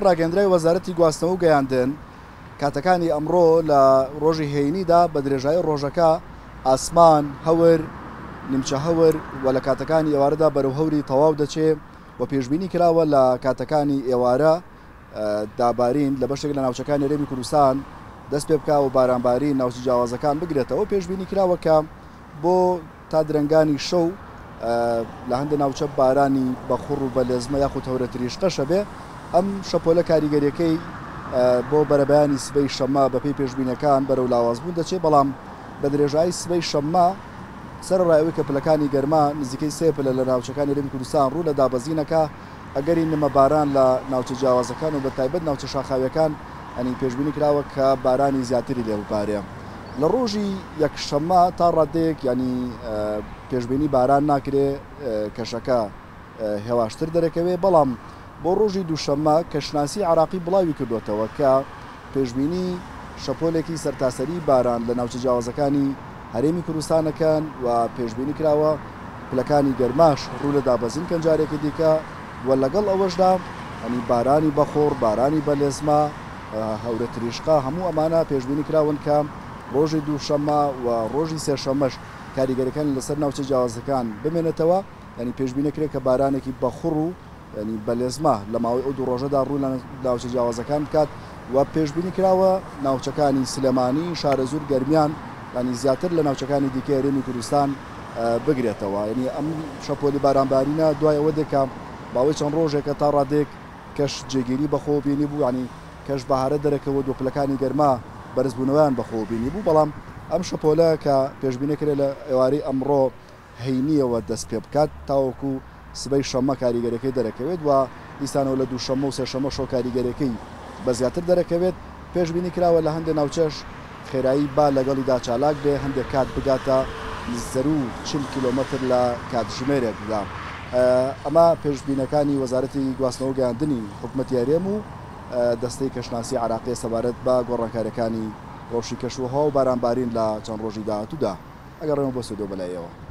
ڕاگەیەندراوی وەزارەتی گواستنەوە و گەیاندن، کاتەکانی ئەمڕۆ لە ڕۆژی هەینیدا بە درێژایی ڕۆژەکە ئاسمان هەور، نیمچە هەور و لە کاتەکانی ئێوارەدا بەرەو هەوری تەواو دەچێ و پێشبینی کراوە لە کاتەکانی ئێوارە دا بارین لە بەشێک لە ناوچەکانی هەرێمی کوردستان دەست پێ بکا و بارانبارین ناوچە جیاوازەکان بگرێتەوە. پێشبینی کراوە کە بۆ تا درەنگانی شەو لە هەندێک ناوچە بارانی بەخوڕ و بەلێزمە یاخود هەورە تریشقەش هەبێ. ئەم شەپۆلە کاریگەریەکەی بۆ بەرەبەیانی سبەی شەممە بەپێی پێشبینیەکان بەرەو لاوازبوون دەچێت، بەڵام بە درێژایی سبەی شەممە سەرەڕای ئەوەی کە پلەکانی گەرما نزیکەی سێ پلە لە ناوچەکانی هەرێمی کوردستان ڕوو لە دابەزینەکە، ئەگەری نمە باران لە ناوچە جیاوازەکان و بەتایبەت ناوچە شاخاویەکان ینی پێشبینی کراوە کە بارانی زیاتری لێ ببارێ لە ڕۆژی یەکشەممە تا ڕادەیەک ینی پێشبینی باران ناکرێ کەشەکە هێواشتر دەرەکەوێ بەڵام بۆ ڕۆژی دووشەممە کەشناسی عراقی بڵاوی کردوێتەوە کە پێشبینی شەپۆلێکی سەرتاسەری باران لە ناوچە جیاوازەکانی هەرێمی کوردستان ئەکەن و پێشبینی کراوە پلەکانی گەرماش ڕوو لە دابەزین کەن جارێکی دیکە و لەگەڵ ئەوەشدا ینی بارانی بەخوڕ، بارانی بەلێزمە، هەورە تریشقە هەموو ئەمانە پێشبینی کراون کە ڕۆژی دووشەممە و ڕۆژی سێشەممەش کاریگەریەکانی لەسەر ناوچە جیاوازەکان بمێنێتەوە ینی پێشبینی کرێت کە بارانێکی بەخوڕ و یانی بەلێزمە لە ماوەی ئەو دوو ڕۆژەدا ڕوو لە ناوچە جیاوازەکان بکات و پێشبینی کراوە ناوچەکانی سلێمانی، شارەزوور، گەرمیان یانی زیاتر لە ناوچەکانی دیکەی هەرێمی کوردستان بگرێتەوە. یانی ئەم شەپۆلی بارانبارینە دوای ئەوە دێت کە ماوەی چەند ڕۆژێکە تا ڕادەیەک کەش جێگیری بەخۆوە بینیبوو، یانی کەش بەهارە دەرەکەوت و پلەکانی گەرما بەرزبوونەوەیان بەخۆوە بینیبوو، بەڵام ئەم شەپۆلە کە پێشبینی کرێت لە ئێوارەی ئەمڕۆ هەینییەوە دەست پێبکات تاوەکو سبەی شەممە کاریگەریەکەی دەرەکەوێت و دیسانەوە لە دووشەممە و سێشەممەشەوە کاریگەریەکەی بە زیاتر دەرەکەوێت، پێشبینی کراوە لە هەندێ ناوچەش خێرایی با لەگەڵیدا چالاک بێ هەندێک کات بگاتە زەروو 40 کیلۆمەتر لە کاتژمێرێکدا. ئەمە پێشبینەکانی وەزارەتی گواستنەوە و گەیاندنی حکومەتی هەرێم و دەستەی کەشناسی عێراقیە سەبارەت بە گۆڕانکاریەکانی ڕەوشی کەشوهەوا و بارانبارین لە چەند ڕۆژی داهاتوودا. ئەگەڕێمەوە بۆ ستۆدیۆ بەلای ئێوە.